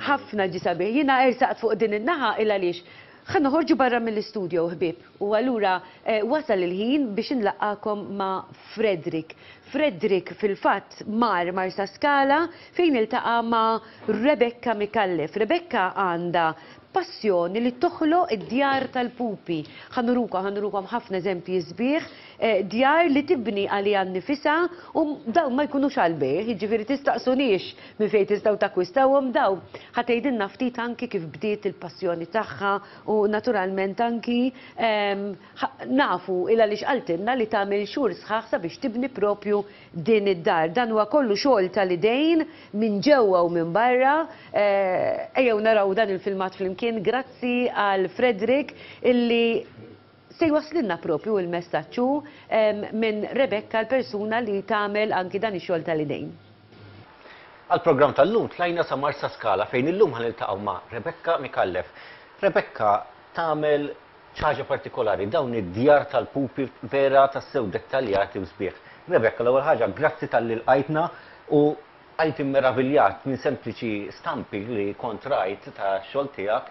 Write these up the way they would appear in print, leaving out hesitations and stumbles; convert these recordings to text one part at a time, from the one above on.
Ħafna ġie sabiħ. Jiena ersaqt fuq din in-naħa il għaliex ħa noħorġu barra mill-istudio ħbieb u allura wasal il-ħin biex inlaqqagħkom ma' Frederick. Frederick fil-fatt mar Marsaskala fejn iltaqa' ma' Rebecca Micallef. Rebecca għandha passjoni li toħloq id-djar tal-pupi. Ħa nurukom, ħa nurukom ħafna eżempji sbieħ, djar li tibni għaliha nnifisha u dawn ma jkunux għall-bejgħ, jiġifieri tistaqsuniex minn fejn tistgħu takkwistawhom dawn. Ħa tgħidilna ftit anki kif bdiet il-passjoni tagħha u naturalment anki nafu il għaliex qaltilna li tagħmel xhur sħaħ sabiex tibni propju din id-dar. Dan huwa kollu xogħol tal-idejn minn ġewwa u minn barra. Ejjew naraw dan il-filmat flimkien grazzi għal Frederick illi se jwasslilna propju il-messaġġ hu minn Rebecca l-persuna li tagħmel anki dan ix-xogħol tal-idejn. Għall-programm tal-lum tlajna sa Marsaskala fejn illum ħa niltaqgħu ma' Rebecca Micallef. Rebecca tagħmel xi ħaġa partikolari, dawn id-djar tal-pupi vera tassew dettaljati u sbieħ. Rebecca, l-ewwel ħaġa grazzi talli lqajtna u bqajt immeraviljat minn sempliċi stampi li kont rajt tax-xogħol tiegħek,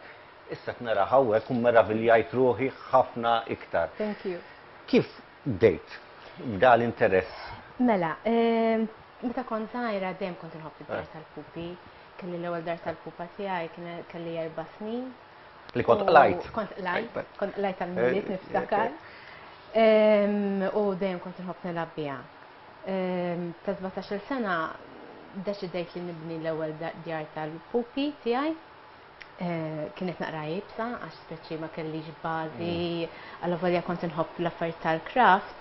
issa qed narah hawnhekk u mmeraviljajt ruħi ħafna iktar. Thank you. Kif bdejt b'da l-interess? Mela, meta kont żgħira dejjem kont inħobb id-dar tal-pupi. Kelli l-ewwel dar tal-pupa tiegħi kelli erba' snin. Li kont qlajt. Kont qlajt, kont qlajt tal-Milied niftakar. U dejjem kont inħobb nilgħab biha. Ta' 17-il sena deċidejt li nibni l-ewwel djar tal-pupi tiegħi. Kienet naqra iebsa għax speċi ma kellix bażi, allavolja kont inħobb l-affarijiet tal-craft,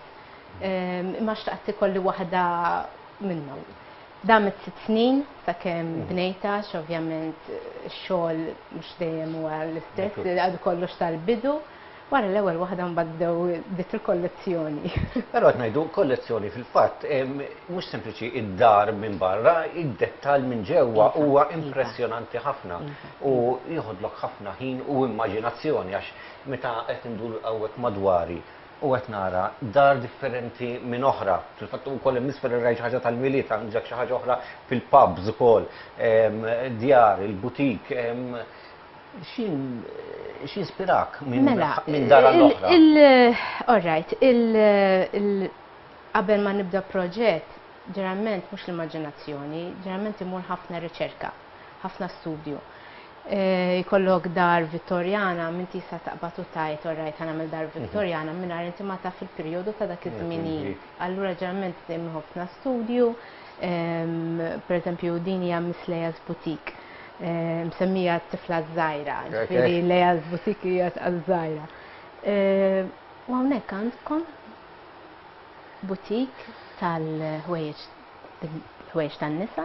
imma xtaqt ikolli waħda minnhom. Damet sitt snin sakemm bnejtha għax ovvjament ix-xogħol mhux dejjem huwa l-istess, għadu kollox tal-bidu. Wara l-ewwel waħda mbagħad bdew bdiet il-kollezzjoni. Però qed ngħidu kollezzjoni fil-fatt mhux sempliċi id-dar minn barra, id-dettall minn ġewwa huwa impressjonanti ħafna u jieħodlok ħafna ħin u immaġinazzjoni għax meta qed indur hawnhekk madwari u qed nara dar differenti minn oħra. Fil-fatt ukoll hemm isfel rajt xi ħaġa tal-Milied, għandek xi ħaġa oħra fil-pubs ukoll, djar, il-butik. X'jispirak minn mela, dar għal oħra? All right, qabel ma nibda proġett, ġeneralment mhux l-immaġinazzjoni, ġeneralment imur ħafna riċerka, ħafna studju. Jkollok dar Vittorjana, m'inti sa taqbad u tgħid alright ħa nagħmel dar Vittorjana mingħajr inti ma taf il-perjodu ta' dak iż-żminijiet. Allura ġeneralment dejjem ħafna studju, per eżempju din hija Miss Leah's Boutique, msemmija t-tifla ż-żgħira, ġifieri Leah's Boutique hija għaż-żgħira. U hawnhekk għandkom boutique tal-ħwejjeġ ħwejjeġ tan-nisa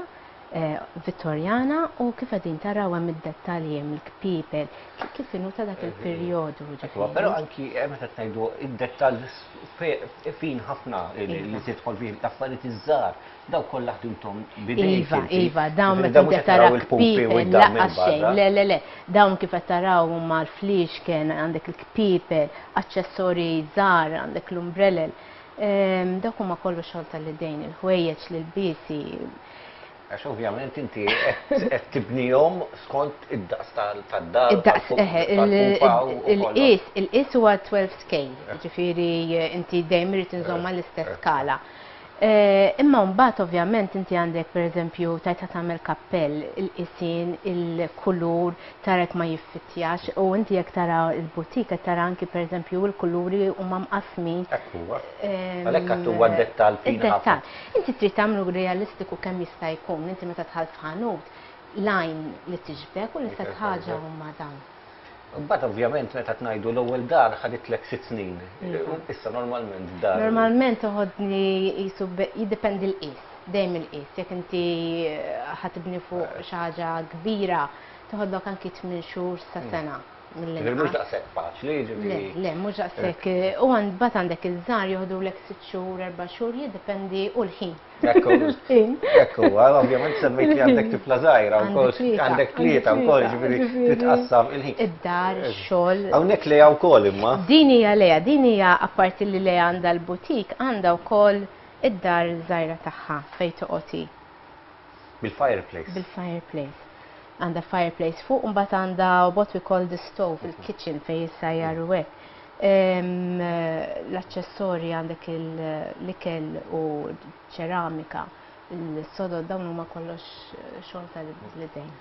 Vittorjana u kif qegħdin taraw hemm id-dettalji hemm il-kpiepel kif inhu ta' dak il-perjodu ġifieri. Però anki meta tgħidu id-dettall fin ħafna li tidħol fih l-affarijiet iż-żgħar daw kollha ħdimthom b'idejk. Iva, iva, dawn meta inti tara kpiepel lanqas xejn. Le, le, le, dawn kif qed taraw huma l-fliexken, għandek il-kpiepel, aċċessorji żgħar, għandek l-umbrellel. Dawk huma kollu xogħol tal-idejn, il-ħwejjeġ, l-ilbiesi. Għax ovvjament inti qed tibnihom skont id-daqs tad-dar. Id-daqs, eħe, il-qies, il-qies huwa 12 scale, jiġifieri inti dejjem irid inżomm mal-istess skala. Imma mbagħad ovvjament inti għandek pereżempju tgħid ħa tagħmel kappell, il-qisien, il-kulur, tara jekk ma jiffittjax u inti jekk tara l-boutique qed tara anki pereżempju l-kuluri huma mqassmin. Hekk huwa. Għalhekk għad huwa d-dettall fin ħafna. Id-dettall. Inti trid tagħmlu realistiku kemm jista' jkun. Inti meta dħalt f'ħanut, l-għajn li tiġbek u l-istess ħaġa huma dawn. Imbagħad ovvjament meta tngħidu l-ewwel dar ħaditlek sitt snin. Issa normalment dar. Normalment toħodni qisu jiddependi l-qies, dejjem il-qies. Jekk inti ħa tibni fuq xi ħaġa kbira, toħodlok anki tmien xhur sa sena mill-inqas. Ġifieri mhux daqshekk faċli, jiġifieri. Le, le, mhux daqshekk. U mbagħad għandek iż-żgħar joħdulek sitt xhur, erba' xhur, jiddependi u l-ħin. Ekku, ekku, ovvjament semmejt li għandek tifla żgħira wkoll, għandek tlieta wkoll, ġifieri titqassam il-ħin. Id-dar, ix-xogħol. Hawnhekk Lea wkoll imma. Din hija Lea, din hija apparti li Lea għandha l-butik, għandha wkoll id-dar żgħira tagħha fejn toqgħod hi. Bil-fireplace. Bil-fireplace. Għandha fireplace fuq, u mbagħad għandha what we call the stove, il-kitchen fejn jissajjar u hekk. L-aċċessorji għandek l-ikel u ċeramika, il-sodod dawn huma kollox xogħol tal-idejn.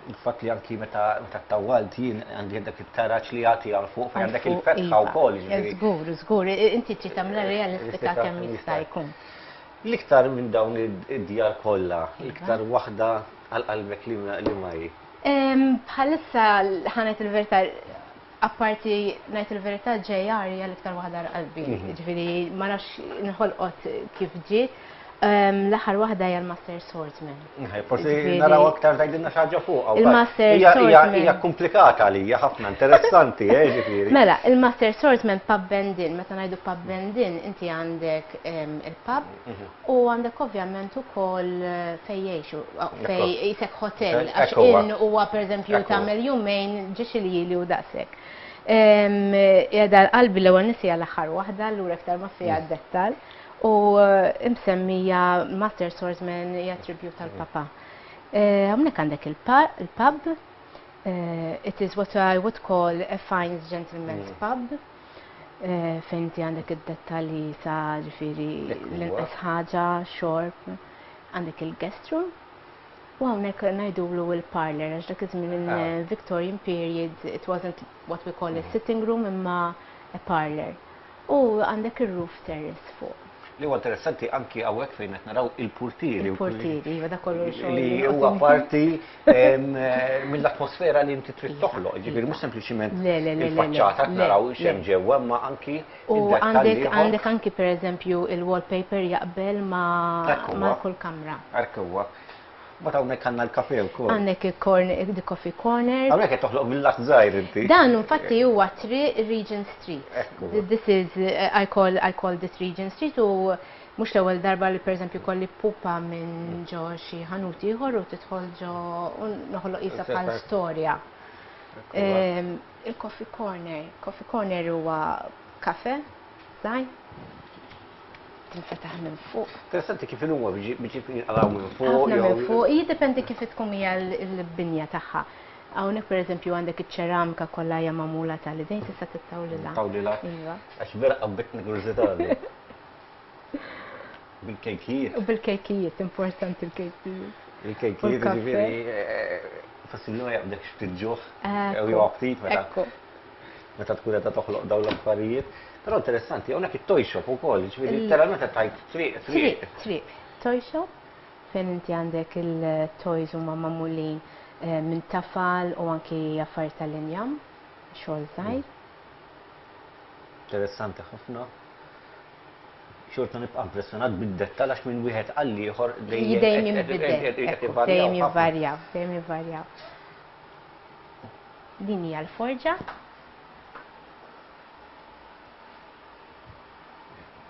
Il-fatt li anki meta meta tawwalt jien għandi dak it-taraġ li jagħti għal fuq fejn għandek il-fetħa iva. wkoll, jiġifieri. Żgur, żgur, inti trid tagħmilha realistika kemm jista' jkun. L-iktar minn dawn id-djar kollha, l-iktar waħda għal qalbek li ma hi? Bħalissa ħa ngħid il-verità, apparti ngħid il-verità JR hija l-iktar waħda għal qalbi. Ġifieri ma nafx inħolqot kif ġiet. L-aħħar waħda hija l-Master Swordsman. Forsi naraw aktar tgħidilna xi ħaġa fuqha. Il-Master Swordsman. Hija komplikata għalija ħafna, interessanti, eh, ġifieri. Mela, il-Master Swordsman pub and inn, meta ngħidu pub and inn, inti għandek il-pub u għandek ovvjament ukoll fejn jgħixu, fejn qisek hotel, għax inn huwa pereżempju tagħmel jumejn ġiex iljieli u daqshekk. Qiegħda għal qalbi l-ewwel nies hija l-aħħar waħda, allura iktar ma fiha dettal. U msemmija Master Swordsman hija tribute tal-papa. Hawnhekk għandek il-pub. It is what I would call a fine gentleman's pub. Fejn inti għandek id-dettalji sa ġifieri l-inqas ħaġa, xorb, għandek il-guest room. U hawnhekk ngħidulu l-parlor għax dak iż-żmien in Victorian period it wasn't what we call a sitting room imma a parlor. U għandek ir-roof terrace fuq. Li huwa interessanti anki hawnhekk fejn qed naraw il-purtieri. Il-purtieri, iva dak kollu xogħol. Li huwa parti mill-atmosfera li inti trid toħloq, ġifieri mhux sempliċiment il-faċċata qed naraw x'hemm ġewwa, imma anki U għandek għandek anki pereżempju il-wallpaper jaqbel ma' kull kamra. Hekk huwa. Mbagħad hawnhekk għandna l-kafe wkoll. Għandek il-corner, the coffee corner. Hawnhekk qed toħloq villaġġ żgħir inti. Dan infatti huwa triq Regent Street. This is I call I call this Regent Street u mhux l-ewwel darba li pereżempju kolli pupa minn ġo xi ħanut ieħor u tidħol ġo u noħloq qisha bħal storja. Il-coffee corner, coffee corner huwa kafe żgħir. Tinfetaħ minn fuq. Interessanti kif huma biex jinqalgħu minn fuq. Ħafna minn fuq, jiddependi kif tkun hija l-binja tagħha. Hawnhekk pereżempju għandek iċ-ċeramika kollha hija magħmula tal-idejn tista' tittawlilha. Tawlilha. Iva. Għax vera qabbitni kurżità. Bil-kejkijiet. U bil-kejkijiet, importanti l-kejkijiet. Il-kejkijiet ġifieri possibbli ma jaqbdekx ftit ġuħ jew aptit meta. Meta tkun qiegħda toħloq dawn l-affarijiet. Però interessanti, hawnhekk it-toy shop ukoll, jiġifieri letteralment qed tgħid triq, triq. Triq, triq. Toy shop fejn inti għandek il-toys huma magħmulin minn tafal u anki affarijiet tal-injam, xogħol żgħir. Interessanti ħafna. Xorta nibqa' impressjonat bid-dettall għax minn wieħed għal ieħor dejjem dejjem jinbidel. Dejjem jivvarjaw, dejjem jivvarjaw. Din hija l-forġa.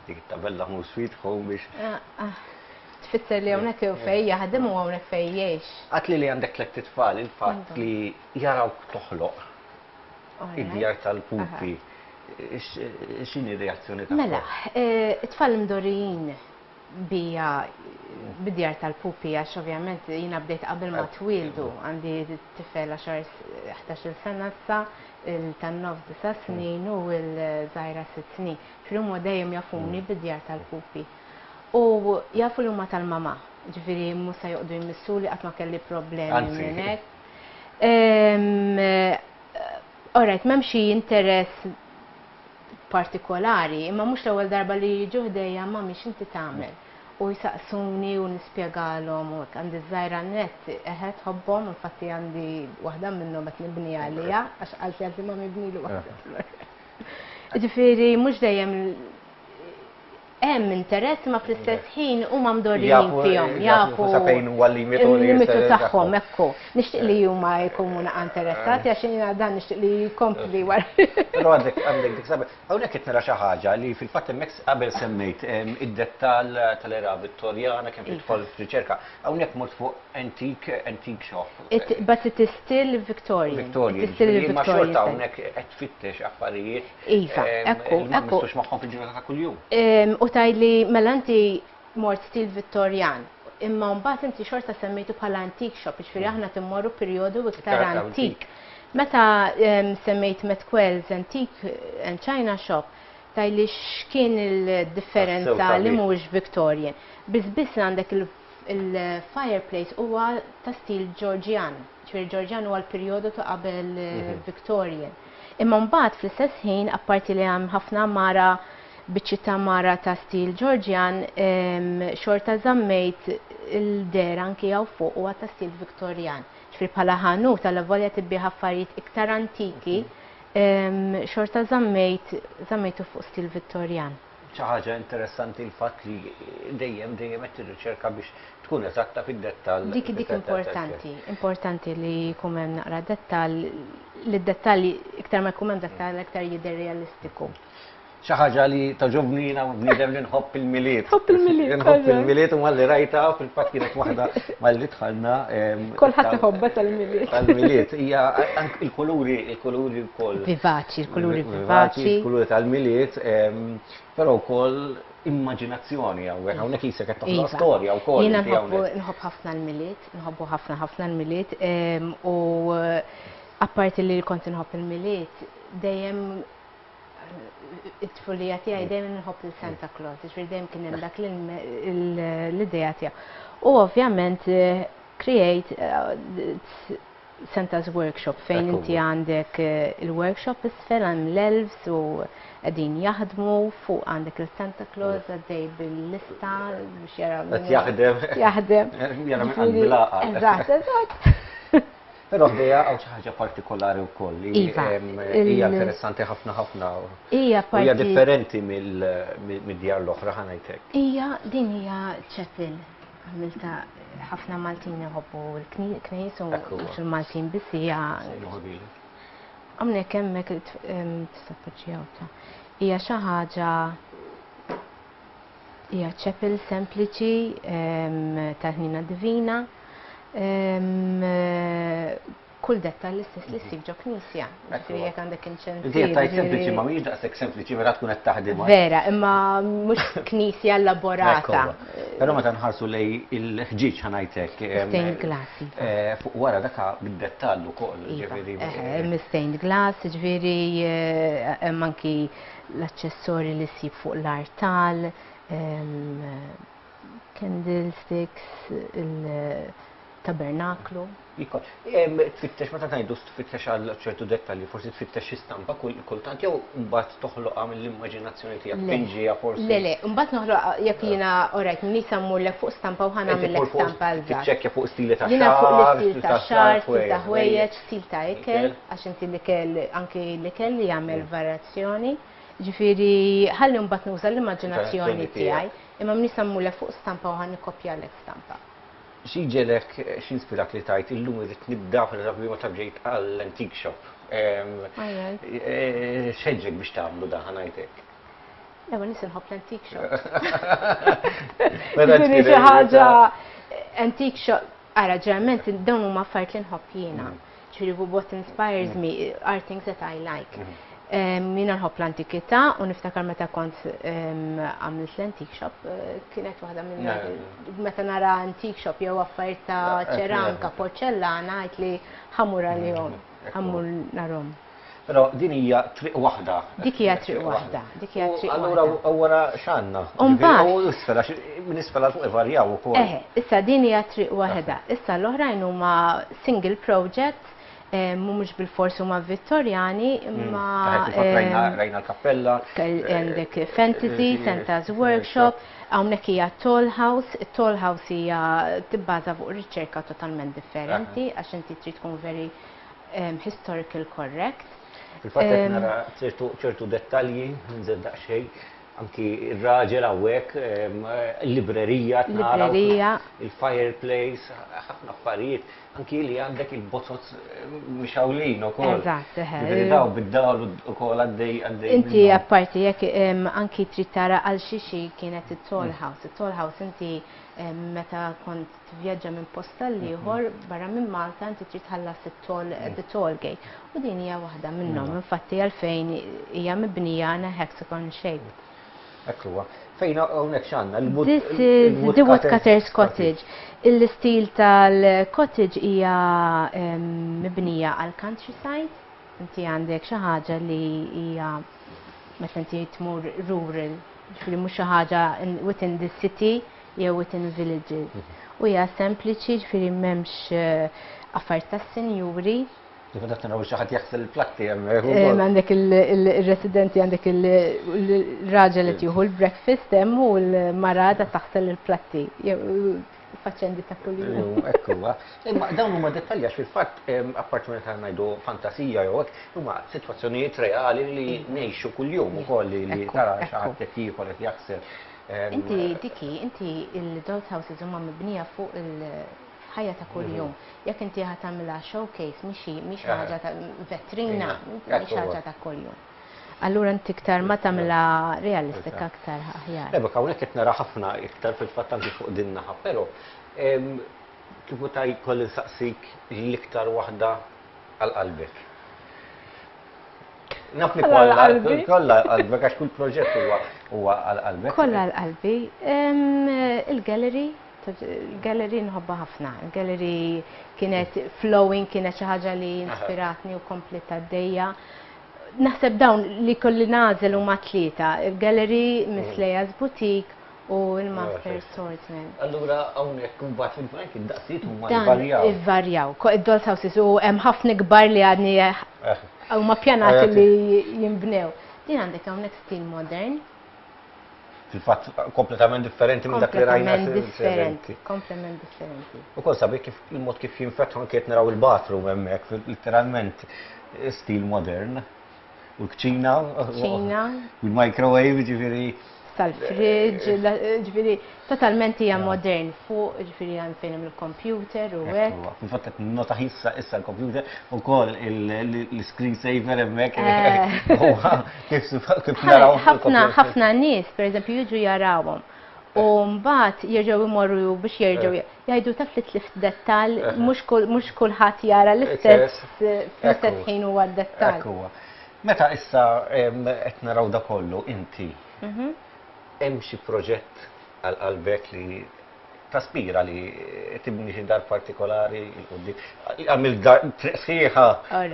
Dik it-tabella Home Sweet Home biex. Ah, ah. Tfisser li hawnhekk fejn jaħdem u hawnhekk fejn jgħix. Għat li li għandek tlett itfal, il-fatt li jarawk toħloq id-djar tal-pupi. X'inhi r-reazzjoni tagħhom? Mela, eh, it-tfal imdorrijin bija bid-djar tal-pupi għax ovvjament jiena bdejt qabel ma twieldu għandi tifel 10 11-il sena issa, il-tan-nofs disa' snin u l-żgħira sitt snin. Ġifieri huma dejjem jafuni bid-djar tal-pupi. U jafu li huma tal-mamà, ġifieri mhux se joqogħdu jmissuli qatt ma kelli problemi minn hekk. All right, m'hemm xi interess partikolari, imma mhux l-ewwel darba li jiġu ħdejja mami x'inti tagħmel? U jsaqsuni u nispjegalhom u hekk. Għandi ż-żgħira nett, eħe tħobbhom, infatti għandi waħda minnhom qed nibni għaliha għax qaltli qaltli mami ibnili waħda. Ġifieri mhux dejjem hemm interess imma fl-istess ħin huma mdorrijin fihom, jafu sa fejn huwa l-limitu l-limitu tagħhom ekku. Nixtieq li huma jkunu naqa' interessati għax jiena dan nixtieq li jkompli wara. Però għandek għandek dik sabi. Hawnhekk qed nara xi ħaġa li fil-fatt hemmhekk qabel semmejt id-dettall tal-era Vittorjana kemm tidħol f'riċerka. Hawnhekk mort fuq antique antique shop. It, but it is still Victorian. Victorian. It is still Imma Victorian. xorta hawnhekk qed tfittex affarijiet Iva, ekku, li ma ekku. nmissux magħhom fil-ġurnata ta' kuljum. U tgħidli mela inti mort stil Vittorjan. Imma mbagħad inti xorta semmejtu bħala antique shop, jiġifieri aħna timmorru perjodu iktar antik. Meta semmejt Metquell's Antique and China Shop, tgħidli x'kien il-differenza li mhuwiex Victorian. Biss biss għandek il-fireplace huwa ta' stil Georgian. Ġifieri Georgian huwa l-perjodu ta' qabel Victorian. Imma mbagħad fl-istess ħin, apparti li hemm ħafna għamara, biċċiet ta' għamara ta' stil Georgian, xorta żammejt il-dehra anki hawn fuq huwa ta' stil Victorian. Ġifieri bħala ħanut allavolja tibbiegħ affarijiet iktar antiki, xorta żammejt żammejtu fuq stil Vittorjan. Xi ħaġa interessanti l-fatt li dejjem dejjem qed tirriċerka biex tkun eżatta fid-dettall. Dik dik importanti, importanti li jkun hemm naqra dettall, li d-dettalji iktar ma jkun hemm dettall iktar jidher realistiku. Xi ħaġa li togħġobni jiena bniedem li nħobb il-Milied. Tħobb il-Milied. Nħobb il-Milied u malli rajta fil-fatt kienet waħda malli dħalna. Kulħadd iħobbha tal-Milied. Tal-Milied hija il-kuluri, il-kuluri wkoll. Vivaċi, il-kuluri vivaċi. Il-kuluri tal-Milied, però wkoll immaġinazzjoni hawnhekk, hawnhekk qisek qed toħloq Iva. storja wkoll. Jiena nħobb ħafna l-Milied, nħobbu ħafna ħafna l-Milied u apparti li kont inħobb il-Milied, dejjem it-tfulija tiegħi dejjem nħobb il Santa Claus, ġifieri dejjem kien hemm dak l-idea tiegħu. U ovvjament create Santa's Workshop fejn inti għandek il-workshop isfel hemm l-elves u qegħdin jaħdmu fuq għandek il-Santa Claus għaddej bil-lista biex jara. Qed jaħdem. Jaħdem. Jara minn qalbi l-għaqal. Eżatt, eżatt. Però ħdejha hawn xi ħaġa partikolari wkoll li Iva, hija interessanti ħafna ħafna. Hija U hija differenti mid-djar l-oħra ħa ngħid hekk. Hija din hija chapel għamilta ħafna Maltin iħobbu l-knejjes u mhux il-Maltin biss hija. Hawnhekk hemmhekk tista' tpoġġiha ta' hija xi ħaġa Hija chapel sempliċi tal-Ħniena Divina. Kull dettall l-istess li ssib ġo knisja. Ġifieri jekk għandek inċensier. Inti qed tgħid sempliċi ma mhijiex daqshekk sempliċi meta tkun qed taħdimha. Vera, imma mhux knisja elaborata. Però meta nħarsu lejn il-ħġieġ ħa ngħid hekk. Stained glass. Iva. Fuq wara dak bid-dettall ukoll, Iva, ġifieri. Hemm stained glass, ġifieri hemm anki l-aċċessorji li ssib fuq l-artal, candlesticks, il-tabernaklu. Tfittex, meta ngħidu tfittex għal ċertu dettalji, forsi tfittex xi stampa kultant jew mbagħad toħloqha mill-immaġinazzjoni tiegħek, tpinġiha forsi. Le, le, mbagħad noħloqha jekk jiena alright, nisa mmurlek fuq stampa u ħa nagħmillek stampa eżatt. Tiċċekkja fuq stili ta' xagħar. Jiena fuq l-istil ta' xagħar, stil ta' ħwejjeġ, stil ta' ikel, għax inti l-ikel anki l-ikel jagħmel varjazzjoni. Ġifieri ħalli mbagħad nuża l-immaġinazzjoni tiegħi, imma m'iniex se mmurlek fuq stampa u ħa nikkopjalek stampa. Xi jġegħlek, x'inspirak li tgħid illum irrid nibda, pereżempju meta ġejt għall-antique shop. X'ħeġġek biex tagħmlu dan ħa ngħid hekk? L-ewwel nies inħobb l-antique shop. Ġifieri xi ħaġa antique shop. Ara, ġeneralment dawn huma affarijiet li nħobb jiena. Ġifieri what inspires me are things that I like. Jiena nħobb l-antikità u niftakar meta kont għamilt l-antique shop kienet waħda minn meta nara antique shop jew affarijiet ta' ċeramika, porċellana, għidt li ħa mmur għalihom, ħa mmur narhom. Però din hija triq waħda. Dik hija triq waħda, dik hija triq waħda. Allura wara x'għandna? U mbagħad. U isfel għax minn isfel għal fuq ivarjaw ukoll. Eħe, issa din hija triq waħda. Issa l-oħrajn huma single projects, mhumiex bilfors huma Vittorjani, imma. Rajna l-kappella. Għandek Fantasy, Santa's Workshop, hawnhekk hija Toll House. Toll House hija tibbaża fuq riċerka totalment differenti għax inti trid tkun very historical correct. Fil-fatt qed nara ċertu dettalji, nżid daqsxejn, anki r-raġel hawnhekk, il-librerija nara. Librerija. Il-fireplace, ħafna affarijiet, anki li għandek il-bozoz mixgħulin ukoll. Eżatt, eħe. Ġifieri daw bid-dawl ukoll għaddej għaddej. Inti apparti jekk anki trid tara għal xi kienet it-Toll House. It-Toll House inti meta kont tivvjaġġa minn post għal ieħor barra minn Malta inti trid tħallas it-toll the toll gate. U din hija waħda minnhom, infatti għalfejn hija mibnija in a hexagon shape. Hekk huwa. Fejn hawnhekk x'għandna? This is the Woodcutters Cottage. Il-istil tal-cottage hija mibnija għal countryside. Inti għandek xi ħaġa li hija meta inti tmur rural, ġifieri mhux xi ħaġa within the city jew within villages. U hija sempliċi, ġifieri m'hemmx affarijiet tas-sinjuri. Kif qed naraw xi ħadd jaħsel il-platti hemmhekk ukoll. Għandek il-residenti, għandek il-raġel qed jieħu l-breakfast hemm u l-mara qed taħsel il-platti. Faċendi ta' kuljum. Hekk huwa. Imma dawn huma dettalji għax fil-fatt apparti meta ngħidu fantasija jew hekk, huma sitwazzjonijiet reali li ngħixu kuljum ukoll li tara xi ħadd qed jiekol qed jaħsel. Inti diki, inti il-dolls houses huma mibnija fuq il-ħajja ta' kuljum. Jekk inti ħa tagħmilha showcase mhix mhix ħaġa ta' vetrina, mhix ħaġa ta' kuljum. Allura inti iktar ma tagħmilha realistika aktar aħjar. Rebecca, hawnhekk qed nara ħafna iktar fil-fatt anki fuq din naħa, però kieku ta' jkolli nsaqsik l-iktar waħda għal qalbek. Naf li kollha kollha qalbek għax kull proġett huwa huwa għal qalbek. Kollha għal qalbi. Il-gallery, il-gallery nħobbha ħafna. Il-gallery kienet flowing, kienet xi ħaġa li inspiratni u kompliet għaddejja. Naħseb dawn li kolli nagħżel huma tlieta, il-gallery, Miss Leah's Boutique u l-Master Swordsman. Allura hawnhekk imbagħad fil-bank id-daqsijiet huma jvarjaw. Jvarjaw. Id-dolls houses u hemm ħafna kbar li għadni huma pjanati li jinbnew. Din għandek hawnhekk stil modern. Fil-fatt kompletament differenti minn dak li rajna. Kompletament differenti. Kompletament differenti. Ukoll sabiħ kif il-mod kif jinfetħu anke qed naraw il-bathroom hemmhekk literalment stil modern. U l-kċina. Kċina. U l-microwave, ġifieri. Tal-fridge, ġifieri totalment hija modern fuq, ġifieri hemm fejn hemm il-computer u hekk. Fil-fatt qed nota issa issa l-computer ukoll l-screen saver hemmhekk. Kif naraw. Ħafna ħafna nies, pereżempju, jiġu jarawhom. U mbagħad jerġgħu jmorru biex jerġgħu jgħidu taf li tlift dettall, mhux kulħadd jara l-istess fl-istess ħin huwa d-dettall. Hekk huwa. Meta issa qed naraw da kollu inti hemm xi proġett għal qalbek li taspira li tibni xi dar partikolari 'l quddiem? Għamilt dar triq sħiħa,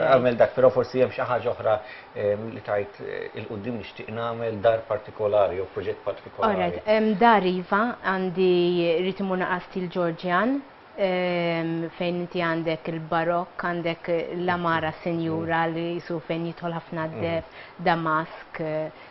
għamilt dak, però forsi hemm xi ħaġa oħra li tgħid 'il quddiem nixtieq nagħmel dar partikolari jew proġett partikolari. Alright, dar iva, għandi rrid imur naqra stil Ġorġjan, fejn inti għandek il-barokk, għandek l-għamara sinjura li qisu fejn jidħol ħafna d-deheb, damask,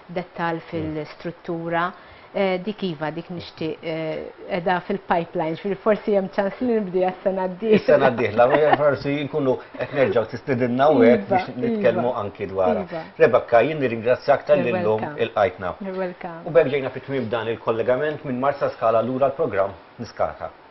dettall fil-struttura. Dik iva, dik nixtieq qiegħda fil-pipeline, ġifieri forsi hemm ċans li nibdiha s-sena d-dieħla. Is-sena d-dieħla, forsi nkunu qed nerġgħu tistidinna hawnhekk biex nitkellmu anki dwarha. Rebecca, jien nirringrazzjak talli llum ilqajtna. You're welcome. U b'hekk ġejna fi tmiem dan il-kollegament minn Marsaskala lura l-programm Niskata.